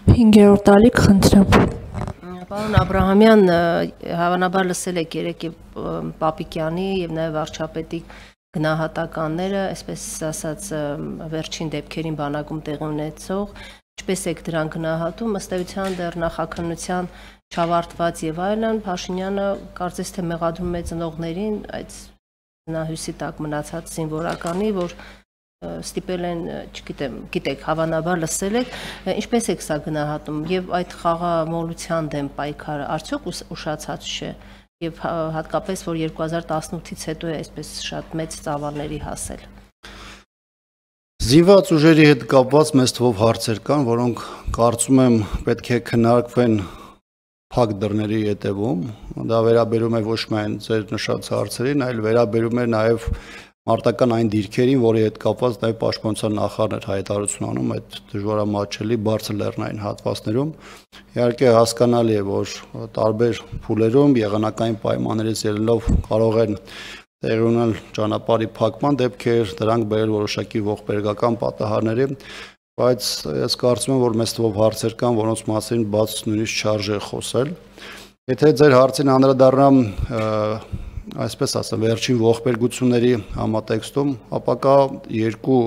5-րդ տալիք խնդրեմ։ Պարոն Աբրահամյան, հավանաբար լսել եք երեկ Պապիկյանի եւ նաեւ վարչապետի գնահատականները, այսպես ասած, վերջին դեպքերին բանակում տեղի ունեցող, ինչպես եք դրան գնահատում, ըստ էության դեռ նախաքննության չավարտված եւ այլն, Փաշինյանը կարծես թե մեղադրում է ծնողներին այդ հույսի տակ մնացած զինվորականի, որ ստիպել են, չգիտեմ, գիտեք, հավանաբար լսել եք, ինչպես եք սա գնահատում եւ այդ խաղամոլության դեմ պայքարը արդյոք ուշացած չէ եւ հատկապես որ 2018-ից հետո է այսպես շատ մեծ ծավալների հասել։ Զինված ուժերի հետ կապված մեծ թվով հարցեր կան, որոնք կարծում եմ պետք է քննարկվեն փակ դռների ետևում, դա վերաբերում է ոչ միայն ձեր նշած հարցերին, այլ վերաբերում է նաեւ մարտական այն դիրքերին, որի հետ կապված նաև պաշտպանության նախարարն էր հայտարարություն անում այդ դժվարամատչելի բարձր լեռնային հատվածներում։ Իհարկե հասկանալի է, որ տարբեր փուլերում եղանակային պայմաններից ելնելով կարող են տեղի ունենալ ճանապարհի փակման դեպքեր, դրանք բերել որոշակի ողբերգական պատահարների, բայց ես կարծում եմ, որ մեծ թվով հարցեր կան, որոնց մասին բաց նույնիսկ չարժե խոսել։ Եթե ձեր հարցին անդրադառնամ այսպես ասեմ, վերջին ողբերգությունների համատեքստում, ապա կա երկու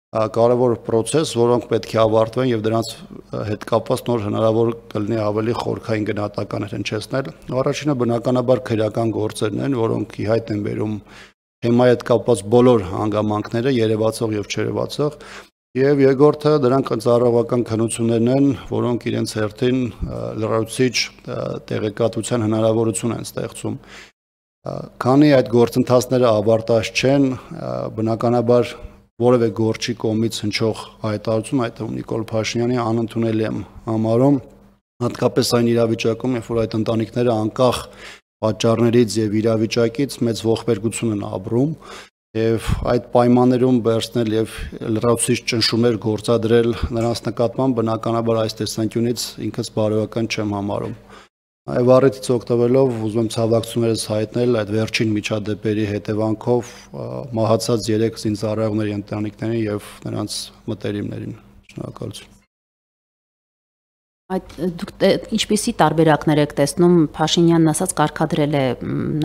կարևոր process, որոնք պետք է ավարտվեն եւ դրանց հետ կապված նոր հնարավոր կլինի ավելի խորքային գնահատականներ հնչեցնել։ Առաջինը բնականաբար քրեական գործերն են, որոնք ի հայտ են բերում թեմայի հետ կապված բոլոր հանգամանքները, երևացող եւ չերևացող, եւ երկրորդը դրանք ծառայողական քննություններն են, որոնք իրենց հերթին լրացուցիչ տեղեկատվության հնարավորություն են ստեղծում։ Քանի այդ գործընթացները ավարտած չեն, բնականաբար որևէ գործի կողմից հնչող հայտարարություն, այդ թվում Նիկոլ Փաշինյանի անընդունելի եմ համարում, հատկապես այն իրավիճակում, երբ որ այդ ընտանիքները անկախ պատճառներից եւ իրավիճակից մեծ ողբերգություն են ապրում եւ այդ պայմաններում վերցնել եւ լրացուցիչ ճնշումներ գործադրել նրանց նկատմամբ բնականաբար այս տեսանկյունից ինքս բարոյական չեմ համարում։ Այո, առիթից օգտվելով ուզում եմ ցավակցություններս հայտնել այդ վերջին միջադեպերի հետևանքով մահացած 3 զինծառայողների ընտանիքներին եւ նրանց մտերիմներին։ Շնորհակալություն։ Դուք ինչպիսի տարբերակներ եք տեսնում Փաշինյանն ասած կարգադրել է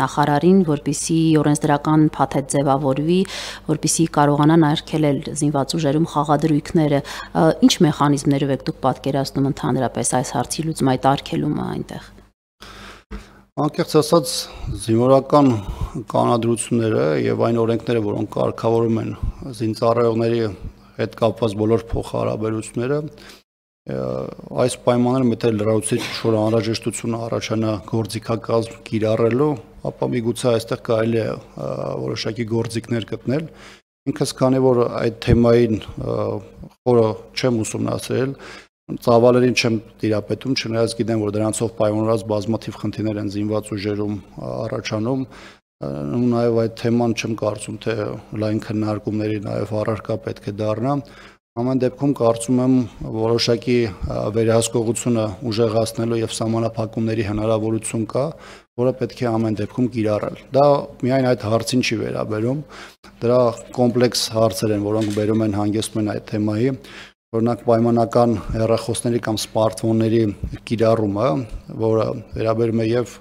նախարարին, որպիսի օրենսդրական փաթեթ ձևավորվի, որպիսի կարողանան արգելել զինված ուժերում խաղադրույքները, ինչ մեխանիզմներով եք դուք պատկերացնում ընդհանրապես այս հարցի լուծում այդ արգելումը այնտեղ։ Անկեղծ ասած, զինվորական կանոնադրությունները եւ այն օրենքները, որոնք կարգավորում են զինծառայողների հետ կապված բոլոր փոխհարաբերությունները, այս պայմաններում եթե լրացուցիչ շոր անհրաժեշտություն առաջանա գործիքակազմ կիրառելու, ապա միգուցե այստեղ կարելի է որոշակի գործիքներ գտնել։ Ինքս քանի որ այդ թեմային խորը չեմ ուսումնասիրել, ծավալերին չեմ տիրապետում, չնայած գիտեմ, որ դրանցով պայմանավորված բազմաթիվ խնդիրներ են զինված ուժերում առաջանում, նաև այդ թեման չեմ կարծում, թե լայն քննարկումների նաև առարկա պետք է դառնա։ Ամեն դեպքում կարծում եմ որոշակի վերահսկողությունը ուժեղացնելու եւ սահմանափակումների հնարավորություն կա, որը պետք է ամեն դեպքում կիրառել։ Դա միայն այդ հարցին չի վերաբերում, դրա կոմպլեքս հարցեր են, որոնք բերում են հանգեցնում են այդ թեմայի, օրինակ պայմանական հեռախոսների կամ սմարթֆոնների կիրառումը, որը վերաբերում է եւ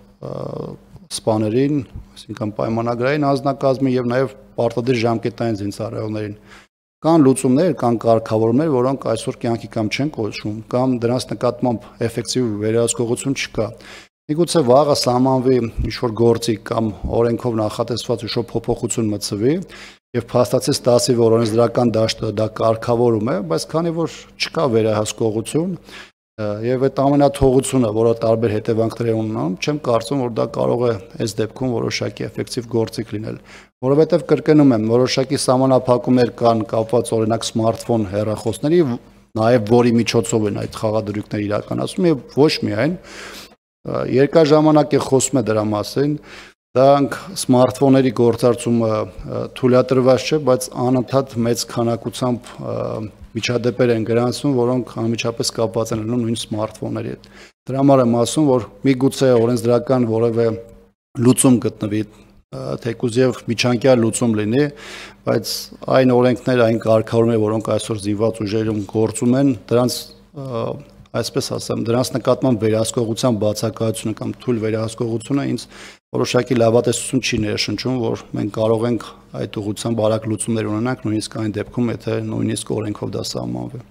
սպաներին, այսինքն պայմանագրային անձնակազմին եւ նաեւ պարտադիր ժամկետային զինծառայողներին։ Կան լուծումներ, կան կարգավորումներ, որոնք այսօր կյանքի կամ չեն կոչվում, կամ դրանց նկատմամբ էֆեկտիվ վերահսկողություն չկա։ Միգուցե վաղը սահմանվի ինչ-որ գործիք կամ օրենքով նախատեսված ինչ-որ փոփոխություն մտցվի եւ փաստացի ստացի, որ օրենսդրական դաշտը դա կարգավորում է, բայց քանի որ չկա վերահսկողություն եւ այդ ամենաթողությունը, որը տարբեր հետևանքներ է ունենում, չեմ կարծում, որ դա կարող է այս դեպքում որոշակի էֆեկտիվ գործիք լինել, որովհետեւ կրկնում եմ, որոշակի սահմանափակումներ կան կապված օրինակ սմարթֆոն հեռախոսների, նաեւ որի միջոցով են այդ խաղադրույքները իրականացվում եւ ոչ միայն երկար ժամանակ է խոսում է դրա մասին, դրանք սմարթֆոնների գործարկումը թույլատրված չէ, բայց անընդհատ մեծ քանակությամբ միջադեպեր են գրանցվում, որոնք անմիջապես կապված են լինում նույն սմարթֆոնների հետ։ Դրա համար եմ ասում, որ միգուցե օրենսդրական որևէ լուծում գտնվի, թեկուզ եւ միջանկյալ լուծում լինի, բայց այն օրենքները, այն կարգավորումները, որոնք այսօր զինված ուժերում գործում են, դրանց այսպես ասեմ, դրանց նկատմամբ վերահսկողության բացակայությունը կամ թույլ վերահսկողությունը ինձ որոշակի լավատեսություն չի ներշնչում, որ մենք կարող ենք այդ ուղղությամբ արագ լուծումներ ունենանք, նույնիսկ այն դեպքում, եթե նույնիսկ օրենքով դա սահմանվի։